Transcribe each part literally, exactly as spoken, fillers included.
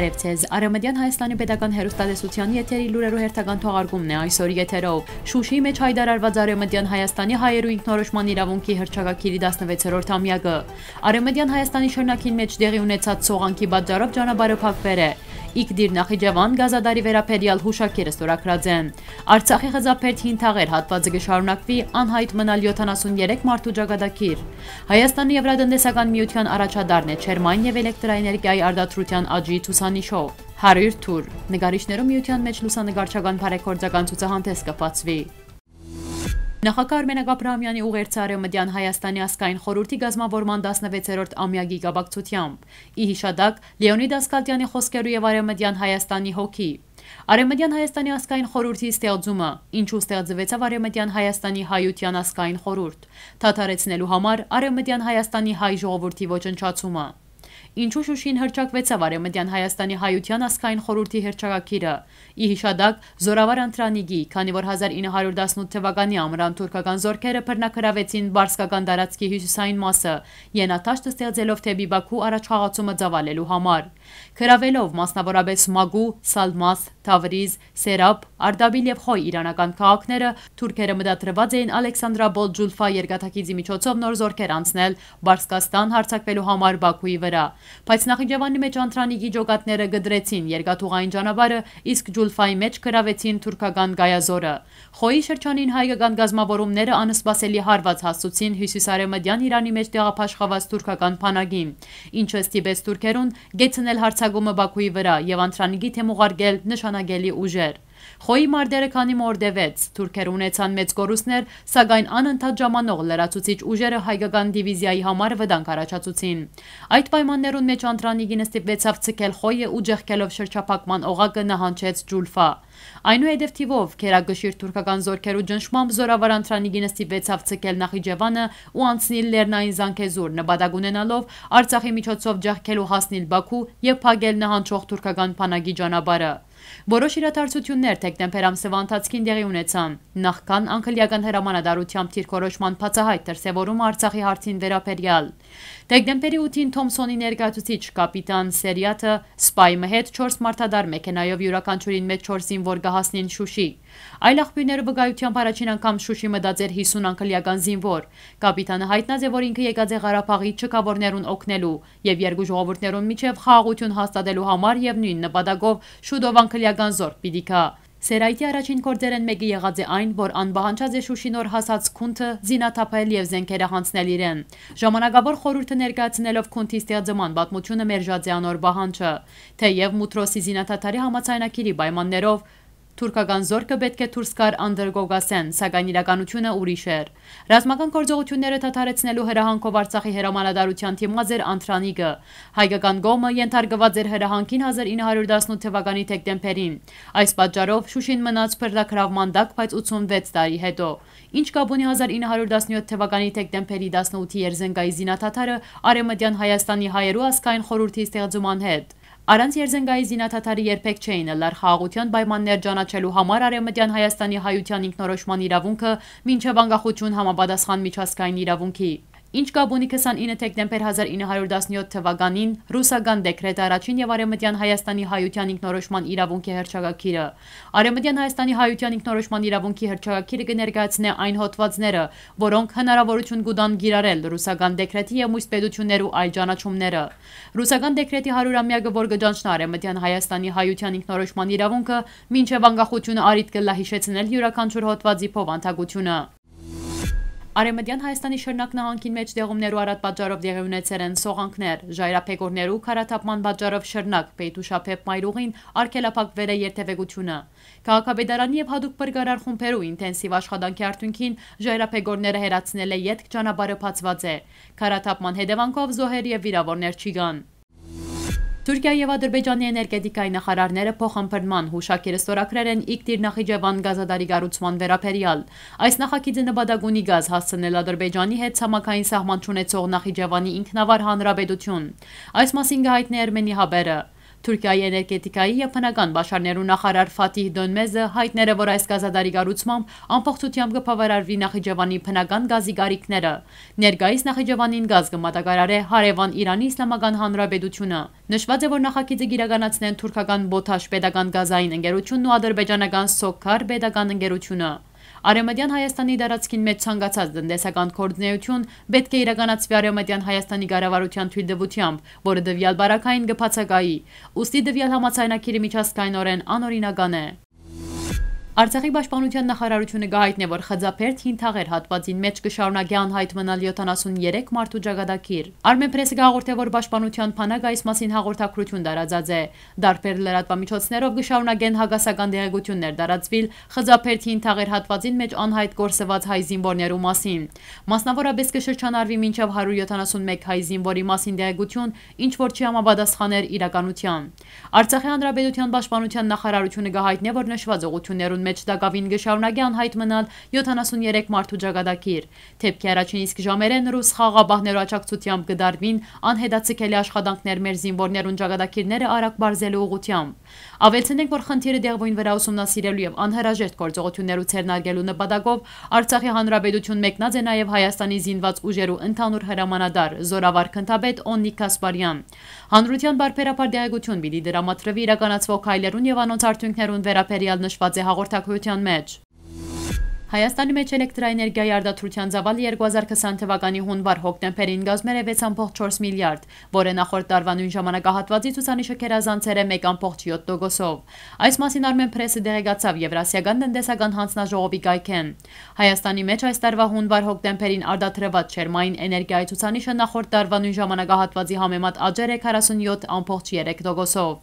Ձեզ Արեւմտյան Հայաստանի պետական հեռուստատեսության եթերի լուրերու հերթական թողարկումն է այսօր եթերով։ Շուշիի մէջ յայտարարուած Արեւմտյան Հայաստանի հայերու ինքնորոշման իրաւունքի հռչակագիրի տասնվեցերորդ ամեակը։ Արեւմտյան Հայաստանի շրջանին մէջ տեղի ունեցած սողանքի պատճառով ճանապարհը փակուեր է։ Իգդիր Նախիջեվան գազադարի վերաբերեալ յուշագիրը ստորագրած են։ Արցախի խզապերթ հին թաղեր հատուածը կը շարունակուի, անյայտ մնալ յոթանասուն երեք մարդու ճակատագիր։ Հայաստանի Եվրատնտեսական միութեան առաջատարն է ջերմային եւ էլեկտրաէներգիայի արտադրութեան աճի ցուցանիշով։ Հարիւր թուր։ Նկարիչներու միութեան մէջ լուսանկարչական բարեգործական ցուցահանդէս կը բացուի։ Նախագահ Արմենակ Աբրահամեանի ուղերձը Արեւմտեան Հայաստանի ազգային խորհուրդի կազմաւորման տասնվեցերորդ ամեակի կապակցութեամբ։ Ի յիշատակ, Լեոնիդ Ասկալտեանի խօսքերու եւ Արեւմտեան Հայաստանի հոգի։ Արեւմտեան Հայաստանի ազգային խորհուրդի ստեղծումը, ինչու ստեղծուեցաւ Արեւմտեան Հայաստանի հայութեան ազգային խորհուրդ, դադարեցնելու համար Արեւմտեան Հայաստանի հայ ժողովուրդի ոչնչացումը։ Ինչու Շուշին հռչակուեցաւ Արեւմտեան Հայաստանի հայութեան ազգային խորհուրդի հռչակագիրը, ի յիշատակ Զորավար Անտրանիկի, քանի որ հազար ինը հարիւր տասնութ թվականի ամրան թուրքական զօրքերը բռնագրաւեցին Պարսկական տարածքի հիւսիսային մասը, յենադաշտ ստեղծելով դէպի Բաքու առաջխաղացումը ծաւալելու համար։ Գրաւելով մասնաւորապէս Մագու, Սալմաս, Թավրիզ, Սերապ, Արտաբիլ եւ Խոյ իրանական քաղաքները, թուրքերը մտադրուած էին Ալեքսանդրապոլ Ջուլֆա երկաթագիծի միջոցով նոր զօրքեր անցնել Պարսկաստան, յարձակուելու համար Բաքուի վրայ։ Բայց Նախիջեվանի մէջ Անտրանիկի ջոկատները կտրեցին երկաթուղային ճանապարհը, իսկ Ջուլֆայի մէջ գրաւեցին թուրքական կայազորը։ Խոյի շրջանին հայկական կազմաւորումները անսպասելի հարուած հասցուցին հիւսիսարեւմտեան Իրանի մէջ տեղաբաշխուած թուրքական բանակին, ինչը ստիպեց թուրքերուն կեցնել յարձակումը Բաքուի վրայ եւ Անտրանիկի դէմ ուղարկել նշանակելի ուժեր։ Խոյի մարտերը քանի մը օր տեւեց, թուրքերը ունեցան մեծ կորուստներ, սակայն անընդհատ ժամանող լրացուցիչ ուժերը հայկական դիվիզիայի համար վտանգ առաջացուցին։ Այդ պայմաններուն մէջ Անտրանիկին ստիպուեցաւ ցկել Խոյը ու ճեղքելով շրջափակման օղակը նահանջեց Ջուլֆա։ Այնուհետեւ թիւով գերակշիռ թուրքական զօրքերու ճնշմամբ զորավար Անտրանիկին ստիպուեցաւ ցկել Նախիջեվանը ու անցնիլ Լեռնային Զանգեզուր, նպատակ ունենալով Արցախի միջոցով ճեղքելու հասնիլ Բաքու եւ փակել նահանջող թուրքական բանակի ճանապարհը։ Որոշ իրադարձություններ դեկտեմբեր ամսեվա ընթացքին տեղի ունեցան, նախքան անգլիական հրամանատարութեամբ դիրքորոշման բացահայտ դրսեւորումը Արցախի հարցին վերաբերեալ։ Դեկտեմբերի ութին Թոմսոնի ներկայացուցիչ կապիտան Սերիաթը սպայ մը հետ չորս մարդատար մեքենայով յուրաքանչիւրին մէջ չորս զինուոր կը հասնին Շուշի։ Այլ աղբիւրներու վկայութեամբ առաջին անգամ Շուշի մտած էր հիսուն անգլիական զինուոր։ Կապիտանը յայտնած է, որ ինքը եկած է Ղարաբաղի չքաւորներուն օգնելու եւ երկու ժողովուրդներուն միջեւ խաղաղութիւն հաստատելու համար եւ նոյն նպատակով շուտով անգլիական զորք պիտի գայ։ Սերայթի առաջին գործերէն մէկը եղած է այն, որ ան պահանջած է Շուշի նոր հասած գունդը զինաթափել եւ զէնքերը յանձնել իրեն։ Ժամանակաւոր խորհուրդը ներկայացնելով գունդի ստեղծման պատմութիւնը մերժած է անոր պահանջը, թէեւ Մուտրոսի զինադադարի համաձայնագիրի պայմաններով թուրքական զօրքը պէտք է դուրս գար Անդրկովկասէն, սակայն իրականութիւնը ուրիշ էր։ Ռազմական գործողութիւնները դադարեցնելու հրահանգով Արցախի հրամանատարութեան դիմած էր Անտրանիկը։ Հայկական կողմը ենթարկուած էր հրահանգին հազար ինը հարիւր տասնութ թվականի դեկտեմբերին։ Այս պատճառով Շուշին մնաց բռնագրաւման տակ, բայց ութսունվեց տարի յետոյ։ Ի՞նչ կապ ունի հազար ինը հարիւր տասնյոթ թվականի դեկտեմբերի տասնութի Երզենկայի զինադադարը Արեւմտեան Հայաստանի հայերու ազգային խորհուրդի ստեղծման հետ։ Առանց Երզենկայի զինադադարի երբեք չէին ըլլար խաղաղութեան պայմաններ ճանաչելու համար Արեւմտեան Հայաստանի հայութեան ինքնորոշման իրաւունքը մինչեւ անկախություն համապատասխան միջազգային իրաւունքի։ Ի՞նչ կապ ունի քսանինը դեկտեմբեր հազար ինը հարիւր տասնյոթ թվականին ռուսական դեկրետը առաջին եւ Արեւմտեան Հայաստանի հայութեան ինքնորոշման իրաւունքի հռչակագիրը։ Արեւմտեան Հայաստանի հայութեան ինքնորոշման իրաւունքի հռչակագիրը կը ներկայացնէ այն հոդվածները, որոնք հնարաւորութիւն կու տան կիրառել ռուսական դեկրետի եւ մյուս պետութիւններու այլ ճանաչումները։ Ռուսական դեկրետի հարիւր ամեակը, որ կը ճանչնայ Արեւմտեան Հայաստանի հայութեան ինքնորոշման իրաւունքը, մինչեւ անկախությունը առիթ կ'ըլլայ յիշեցնել իւրաքանչիւր հոդվածի բովանդակութիւնը։ Արեւմտեան Հայաստանի Շրնակ նահանգին մէջ տեղումներու առատ պատճառով տեղի ունեցեր են սողանքներ։ Ժայռաբեկորներու քարաթափման պատճառով Շրնակ Պեյթուշաբեբ մայրուղին արգելափակուեր է երթեւեկութիւնը։ Քաղաքապետարանի եւ յատուկ փրկարար խումբերու ինտենսիվ աշխատանքի արդիւնքին ժայռաբեկորները հեռացնել է, ետք ճանապարհը բացուած է։ Քարաթափման հետեւանքով զոհեր եւ վիրաւորներ չի կան։ Թուրքիա եւ Ադրբեջանի էներգետիկայի նախարարները փոխըմբռնման յուշագիր ստորագրեր են Իգդիր Նախիջեվան գազադարի կառուցման վերաբերեալ։ Այս նախագիծը նպատակ ունի գազ հասցնել Ադրբեջանի հետ ցամաքային սահման չունեցող Նախիջեվանի ինքնավար հանրապետություն։ Այս մասին կը յայտնի Էրմենի Հաբերը։ Թուրքիայի էներգետիկայի եւ բնական պաշարներու նախարար Ֆաթիհ Դոնմեզը յայտնեց, որ այս գազատարի կառուցմամբ ամբողջությամբ կը բաւարարուի Նախիջեւանի բնական գազի կարիքները։ Ներկայիս Նախիջեւանին գազ կը մատակարարէ հարեւան Իրանի Իսլամական Հանրապետութիւնը։ Նշուած է, որ նախագիծը կիրականացնեն թուրքական Պոթաշ պետական գազային ընկերութիւնն ու ադրբեջանական Սոքար պետական ընկերութիւնը։ Արեւմտեան Հայաստանի տարածքին մէջ ցանկացած տնտեսական գործունէութիւն պէտք է իրականացուի Արեւմտեան Հայաստանի կառավարութեան թոյլտուութեամբ, որը տուեալ պարագային կը բացակայի։ Ուստի տուեալ համաձայնագիրը միջազգայինօրէն անօրինական է։ Արցախի պաշտպանութեան նախարարութիւնը կը յայտնէ, որ Խծաբերդ Հին Թաղեր հատուածին մէջ կը շարունակէ անյայտ մնալ յոթանասուն երեք մարդու ճակատագիր։ Armenpress-ը կը հաղորդէ, որ պաշտպանութեան բանակը այս մասին հաղորդագրութիւն տարածած է։ Տարբեր լրատուամիջոցներով կը շարունակեն հակասական տեղեկութիւններ տարածուիլ Խծաբերդ Հին Թաղեր հատուածին մէջ անյայտ կորսուած հայ զինուորներու մասին։ Մասնաւորապէս կը շրջանառուի մինչեւ հարիւր յոթանասուն մէկ հայ զինուորի մասին տեղեկութիւն, ինչ որ չի համապատասխաներ իրականութեան։ Արցախի Հանրապետութեան պաշտպանութեան նախարարութիւնը կը յայտնէ, որ նշուած ուղղութիւններուն մէջ տակաւին կը շարունակէ անյայտ մնալ յոթանասուն երեք մարդու ճակատագիր։ Դէպքի առաջին իսկ ժամերէն ռուս խաղաղապահներու աջակցութեամբ կը տարուին անհետաձգելի աշխատանքներ մեր զինուորներուն ճակատագիրները արագ պարզելու ուղղութեամբ։ Աւելցնենք, որ խնդիրը տեղւոյն վրայ ուսումնասիրելու եւ անհրաժեշտ գործողութիւններու ձեռնարկելու նպատակով Արցախի Հանրապետութիւն մեկնած է նաեւ Հայաստանի զինուած ուժերու ընդհանուր հրամանատար, զօրավար գնդապետ Օննիկ Գասպարեան։ Հանրութեան պարբերաբար տեղեկութիւն պիտի տրամադրուի իրականացուող քայլերուն եւ անոնց արդիւնքներուն վերաբերեալ նշուած է հաղորդագրութեան մէջ։ Հայաստանի մէջ էլեկտրաէներգիայի արտադրութեան ծաւալը երկու հազար քսան թվականի հունուար-հոկտեմբերին կազմեր է վեց ամբողջ չորս միլիարդ, որը նախորդ տարուայ նոյն ժամանակահատուածի ցուցանիշը գերազանցեր է մեկ ամբողջ յոթ տոկոսով։ Այս մասին Armenpress-ը տեղեկացաւ Եվրասիական տնտեսական հանձնաժողովի կայքէն։ Հայաստանի մէջ այս տարուայ հունուար-հոկտեմբերին արտադրուած ջերմային էներգիայի ցուցանիշը նախորդ տարուայ նոյն ժամանակահատուածի համեմատ աճեր է քառասուն յոթ ամբողջ երեք տոկոսով։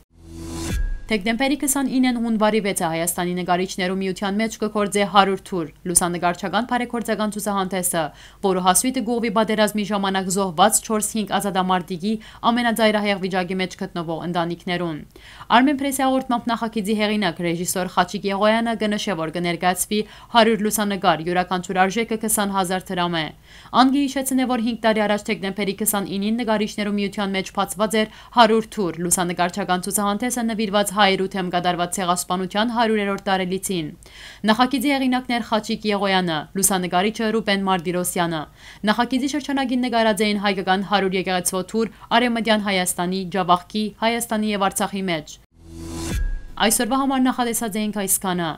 Դեկտեմբերի քսանիննին հունուարի վեցը Հայաստանի նկարիչներու միութեան մէջ կը գործէ հարիւր թուր լուսանկարչական բարեգործական ցուցահանդէսը, որու հասոյթը կ'ուղղուի պատերազմի ժամանակ զոհուած չորս-հինգ ազատամարտիկի ամենածայրահեղ վիճակի մէջ գտնուող ընտանիքներուն։ Armenpress-ի հաղորդմամբ նախագիծի հեղինակ, ռեժիսոր Խաչիկ Եղոյանը կը նշէ, որ կը ներկայացուի հարիւր լուսանկար, իւրաքանչիւր արժէքը քսան հազար դրամ է։ Ան կը յիշեցնէ, որ հինգ տարի առաջ դեկտեմբերի քսանիննին նկարիչներու միութեան մէջ բացուած էր հարիւր թուր լուսանկարչական ցուցահանդէսը նուիրուած հայերու դէմ կատարուած ցեղասպանութեան հարիւրերորդ տարելիցին։ Նախագիծի հեղինակն էր Խաչիկ Եղոյանը, լուսանկարիչը՝ Ռուբեն Մարտիրոսյանը։ Նախագիծի շրջանակին նկարած էին հայկական հարիւր եկեղեցւոյ թուր Արեւմտեան Հայաստանի, Ջաւախքի, Հայաստանի եւ Արցախի մէջ։ Այսօրուայ համար նախատեսած էինք այսքանը։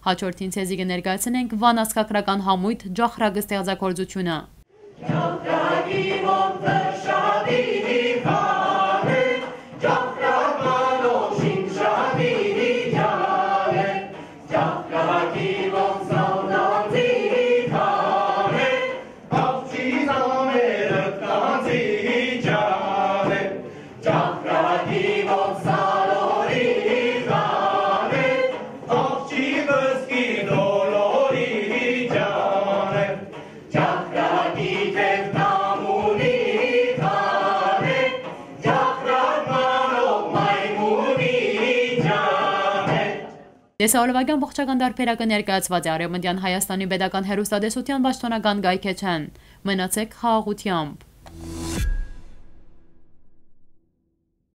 Հաջորդին ձեզի կը ներկայացնենք Վան ազգագրական համոյթ «Ջախրակ» ստեղծագործութիւնը։ Տեսահոլովակի ամբողջական տարբերակը ներկայացված է Արեւմտեան Հայաստանի պետական հեռուստատեսութեան պաշտօնական կայքէջէն։ Մնացեք խաղաղութեամբ։